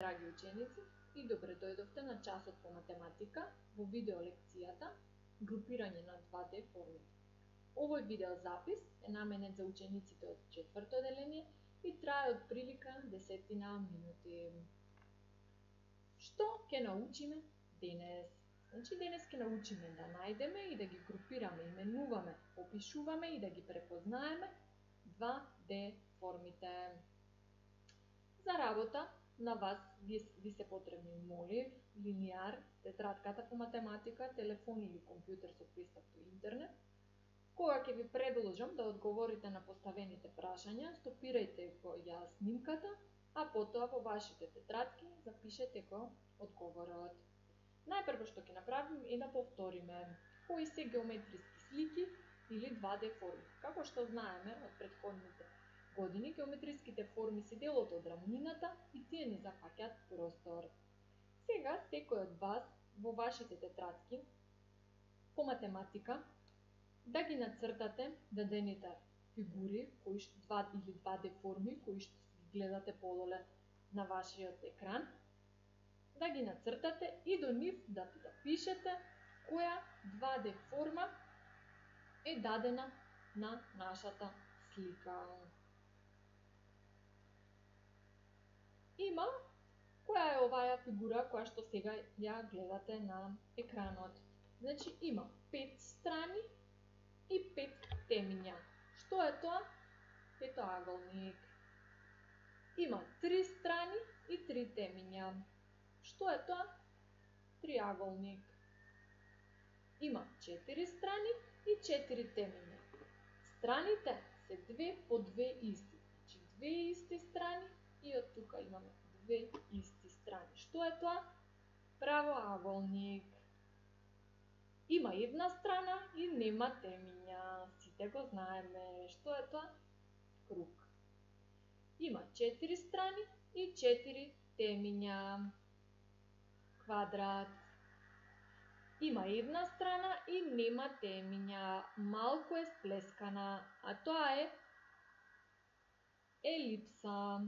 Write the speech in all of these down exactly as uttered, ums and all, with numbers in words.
Драги ученици, и добре дојдовте на часот по математика во видео лекцијата групирање на два де форми. Овој видео запис е наменет за учениците од четврто одделение и трае од прилика десетина минути. Што ќе научиме денес? Значи денес ќе научиме да најдеме и да ги групираме, именуваме, опишуваме и да ги препознаеме два де формите. За работа на вас ви, ви се потребни молив, линијар, тетратката по математика, телефон или компјутер со пристап до интернет. Кога ќе ви предложам да одговорите на поставените прашања, стопирајте го ја снимката, а потоа во вашите тетратки запишете го одговорот. Најпрво што ќе направиме е да повториме кои се геометриски слики или два де форми. Како што знаеме од претходните години, геометриските форми се делот од рамнината и тие не зафаќаат простор. Сега секој од вас во вашите тетратки по математика да ги нацртате дадените фигури, кои што два или два де форми кои што ги гледате подоле на вашиот екран, да ги нацртате и до нив да запишете која два де форма е дадена на нашата слика. Има која е оваа фигура која што сега ја гледате на екранот. Значи има пет страни и пет темиња. Што е тоа? Петоаголник. Има три страни и три темиња. Што е тоа? Триаголник. Има четири страни и четири темиња. Страните се две по две исти. Значи две исти страни и од тука имаме две исти страни. Што е тоа? Правоаголник. Има една страна и нема темиња. Сите го знаеме. Што е тоа? Круг. Има четири страни и четири темиња. Квадрат. Има една страна и нема темиња. Малку е сплескана, а тоа е елипса.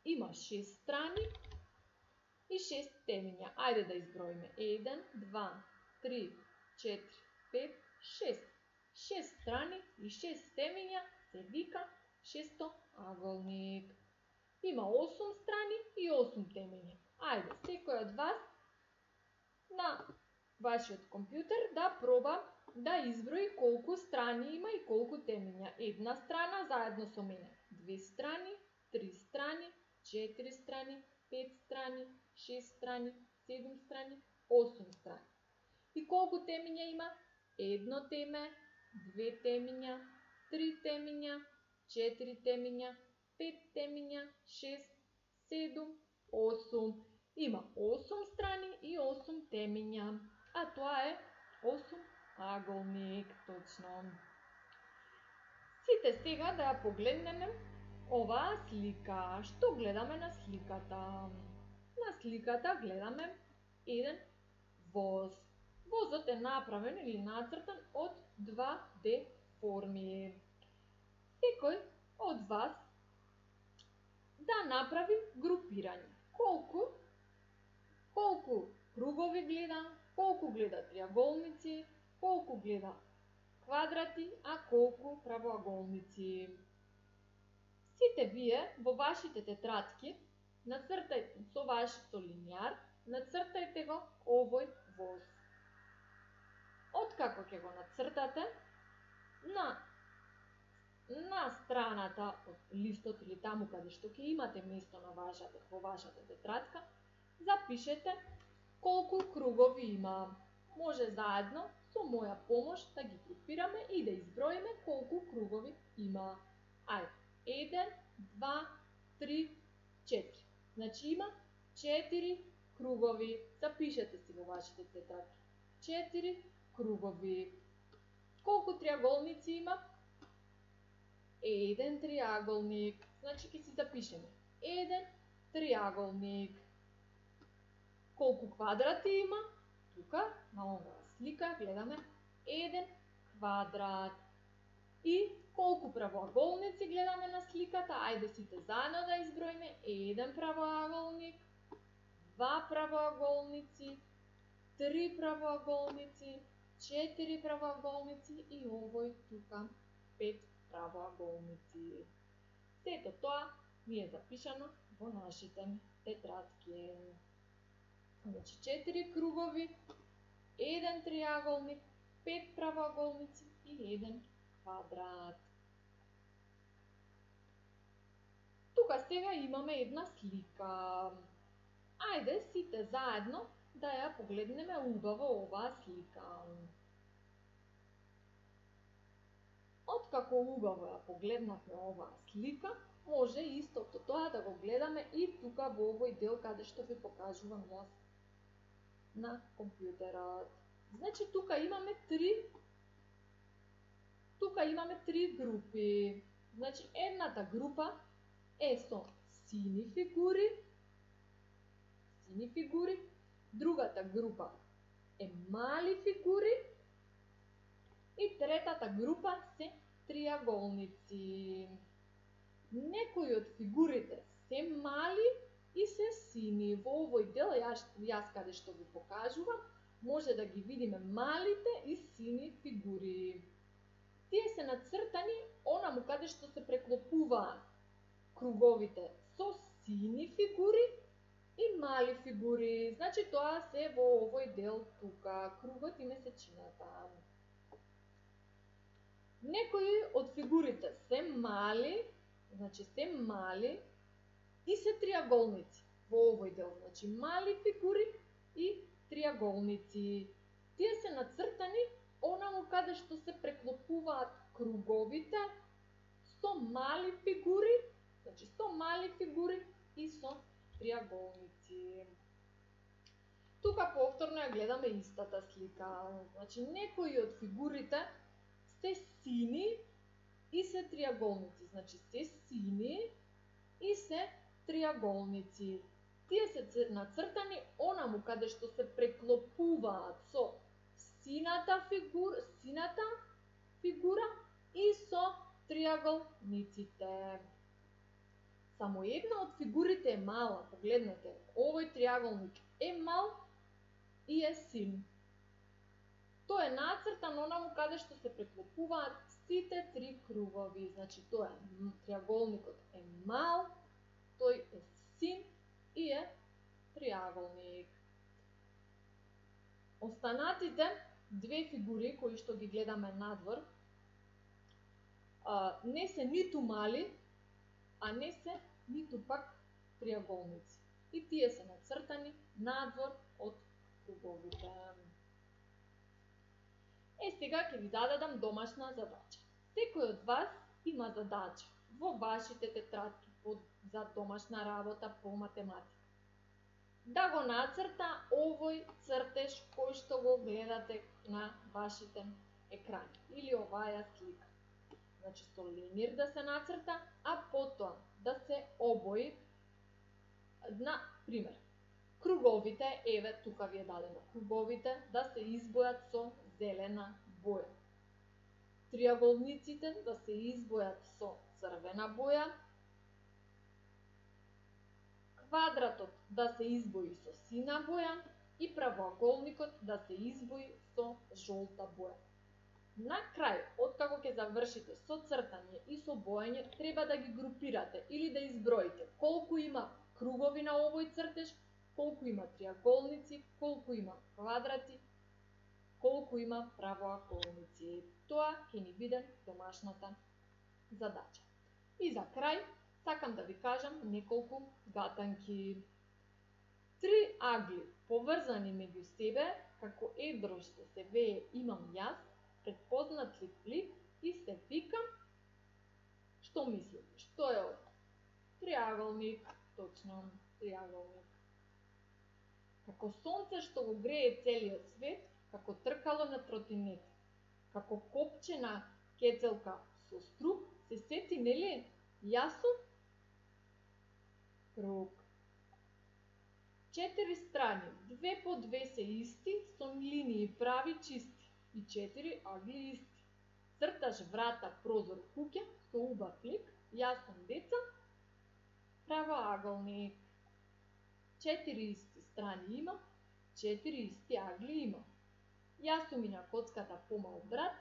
Има шест страни и шест темиња. Ајде да изброиме. еден, два, три, четири, пет, шест. шест страни и шест темиња се вика шестоаголник. Има осум страни и осум темиња. Ајде, секој од вас на вашиот компјутер да проба да изброи колку страни има и колку темиња. Една страна заедно со мене. Две страни, три страни, четири страни, пет страни, шест страни, седум страни, осум страни. И колку темиња има? Едно теме, две темиња, три темиња, четири темиња, пет темиња, шест, седум, осум. Има осум страни и осум темиња, а тоа е осумаголник, точно. Сите сега да ја погледнеме оваа слика. Што гледаме на сликата? На сликата гледаме еден воз. Возот е направен или нацртан од два де форми. Секој од вас да направи групирање. Колку колку кругови гледа, колку гледа триаголници, колку гледа квадрати, а колку правоаголници. Сите вие во вашите тетратки нацртајте со вашето линијар, нацртајте го овој воз. Откако ќе го нацртате, на на страната од листот или таму каде што ќе имате место на вашата во вашата тетратка, запишете колку кругови има. Може заедно со моја помош да ги групираме и да изброиме колку кругови има. Ајде. еден, два, три, четири. Значи има четири кругови. Запишете си во вашите тетратки. четири кругови. Колку триаголници има? Еден триаголник. Значи ќе си запишеме. Еден триаголник. Колку квадрати има? Тука, на оваа слика, гледаме еден квадрат. И Колку правоаголници гледаме на сликата? Ајде сите заедно да изброиме. Еден правоаголник, два правоаголници, три правоаголници, четири правоаголници и овој тука пет правоаголници. Сето тоа ми е запишано во нашите тетрадки. Значи четири кругови, еден триаголник, пет правоаголници и еден квадрат. Тука сега имаме една слика. Ајде сите заедно да ја погледнеме убаво оваа слика. Откако убаво ја погледнавме оваа слика, може истото тоа да го гледаме и тука во овој дел каде што ви покажувам јас на компјутерот. Значи тука имаме три тука имаме три групи. Значи едната група е со сини фигури, сини фигури, другата група е мали фигури и третата група се триаголници. Некои од фигурите се мали и се сини. Во овој дел јас, јас каде што ви покажувам, може да ги видиме малите и сини фигури. Тие се нацртани онаму каде што се преклопуваат круговите со сини фигури и мали фигури. Значи тоа се во овој дел тука, кругот и месечината. Некои од фигурите се мали, значи се мали и се триаголници во овој дел. Значи мали фигури и триаголници. Тие се нацртани онаму каде што се преклопуваат круговите со мали фигури, значи со мали фигури и со триаголници. Тука повторно ја гледаме истата слика. Значи некои од фигурите се сини и се триаголници. Значи се сини и се триаголници. Тие се нацртани онаму каде што се преклопуваат со сината фигура, сината фигура и со триаголниците. Само една од фигурите е мала, погледнете, овој триаголник е мал и е син. Тој е нацртан онаму каде што се преклопуваат сите три кругови. Значи тоа е триаголникот е мал, тој е син и е триаголник. Останатите две фигури кои што ги гледаме надвор не се ниту мали, а не се ниту пак триаголници. И тие се нацртани надвор од круговите. Е, сега ќе ви зададам домашна задача. Секој од вас има задача во вашите тетрадки за домашна работа по математика. Да го нацрта овој цртеж кој што го гледате на вашите екрани или оваа слика. Значи со ленир да се нацрта, а потоа да се обои. На пример, круговите, еве тука ви е дадено, круговите да се избојат со зелена боја. Триаголниците да се избојат со црвена боја. Квадратот да се избои со сина боја и правоаголникот да се избои со жолта боја. На крај, откако ќе завршите со цртање и со бојање, треба да ги групирате или да изброите колку има кругови на овој цртеж, колку има триаголници, колку има квадрати, колку има правоаголници. Тоа ќе ни биде домашната задача. И за крај, сакам да ви кажам неколку гатанки. Три агли поврзани меѓу себе, како едро што се вее имам јас, предпознат ли лик и се викам, што мислите? Што е ова? Триаголник, точно, триаголник. Како сонце што го грее целиот свет, како тркало на тротинет, како копче на кецелка со струк, се сети, нели? Јас сум круг. Четири страни, две по две се исти, со линии прави чисти и четири агли исти. Црташ врата, прозор, куќа со убав лик, јас сум деца, правоаголник. Четири исти страни има, четири исти агли има. Јас сум и на коцката помал брат,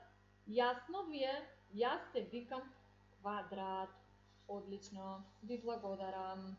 јасно ви е, јас се викам Квадрат. Одлично, ви благодарам.